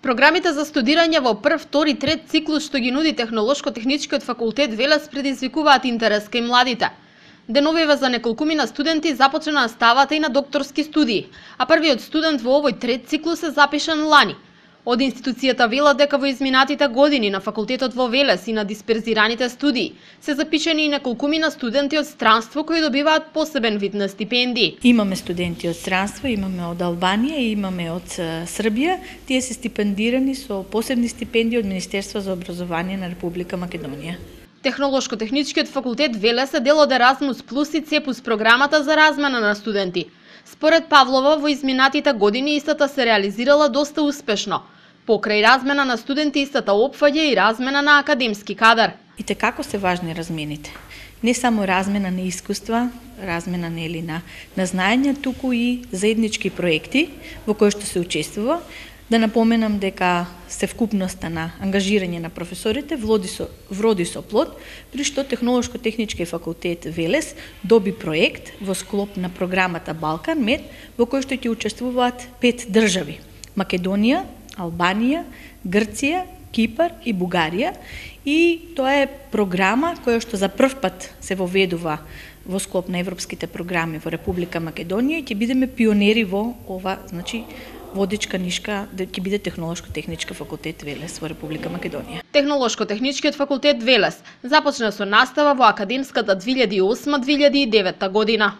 Програмите за студирање во прв, втори, трет циклус што ги нуди Технолошко-техничкиот факултет Велес предизвикуваат интерес кај младите. Деновиве за неколкумина студенти започна наставата и на докторски студии, а првиот студент во овој трет циклус е запишан лани. Од институцијата вела дека во изминатите години на факултетот во Велес и на дисперзираните студии се запишани и неколкумина студенти од странство кои добиваат посебен вид на стипендии. Имаме студенти од странство, имаме од Албанија и имаме од Србија. Тие се стипендирани со посебни стипендии од Министерство за образование на Република Македонија. Технолошко-техничкиот факултет Велес е дел од Еразмус Плюс и Цепус програмата за размена на студенти. Според Павлова, во изминатите години истата се реализирала доста успешно. Покрај размена на студенти, истата опфаќа и размена на академски кадар. И како се важни размените. Не само размена на искуства, размена на знаења, туку и заеднички проекти во кои што се учествува. Да напоменам дека севкупноста на ангажирање на професорите вроди со плод, при што Технолошко-технички факултет Велес доби проект во склоп на програмата Балкан Мед, во кој што ќе учествуваат 5 држави: Македонија, Албанија, Грција, Кипар и Бугарија. И тоа е програма која што за прв пат се воведува во склоп на европските програми во Република Македонија и ќе бидеме пионери во ова, водичка нишка ќе биде Технолошко-технички факултет Велес во Република Македонија. Технолошко-техничкиот факултет Велес започна со настава во академската 2008-2009 година.